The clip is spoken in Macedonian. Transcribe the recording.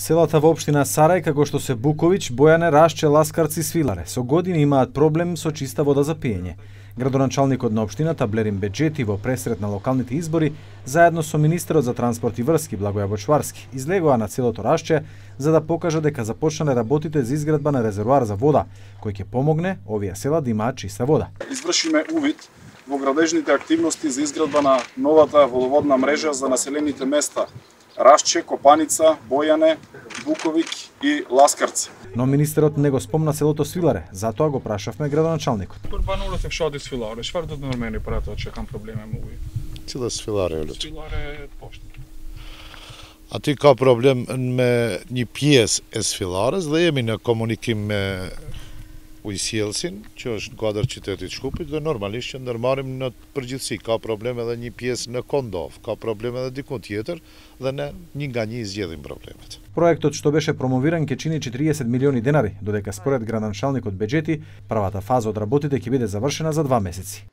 Селата во општина Сарај, како што се Буковиќ, Бојане, Рашче, Ласкарци и Свиларе, со години имаат проблем со чиста вода за пиење. Градоначалникот на општината Блерин Беџети во пресрет на локалните избори, заедно со министерот за транспорт и врски Благоја Бочварски, излегоа на целото Рашче за да покажа дека започнале работите за изградба на резервоар за вода, кој ќе помогне овие села да имаат чиста вода. Извршиме увид во градежните активности за изградба на новата водоводна мрежа за населените места Рашче, Копаница, Бојане, Буковиќ и Ласкарци. Но министерот не го спомна селото Свиларе, затоа го прашавме градоначалникот. Банулот е фшади Свиларе, швар до нормени прато че кам проблеме муви. Цела Свиларе лут. Свиларе пошто. A ty ka problem me një pjesë e Sfillares dhe jemi në komunikim me Ujësjellsin, që është në kuadër qytetit Shkupit, dhe normalisht që ndërmarrim në përgjithësi. Ka problem edhe një pjesë në Kondov, ka problem edhe diku tjetër dhe ne një nga një zgjedhim problemet. Проектот што беше промовиран ќе чини 40 милиони денари, додека според градоначалникот Беџети, првата фаза од работите ќе биде завршена за 2 месеци.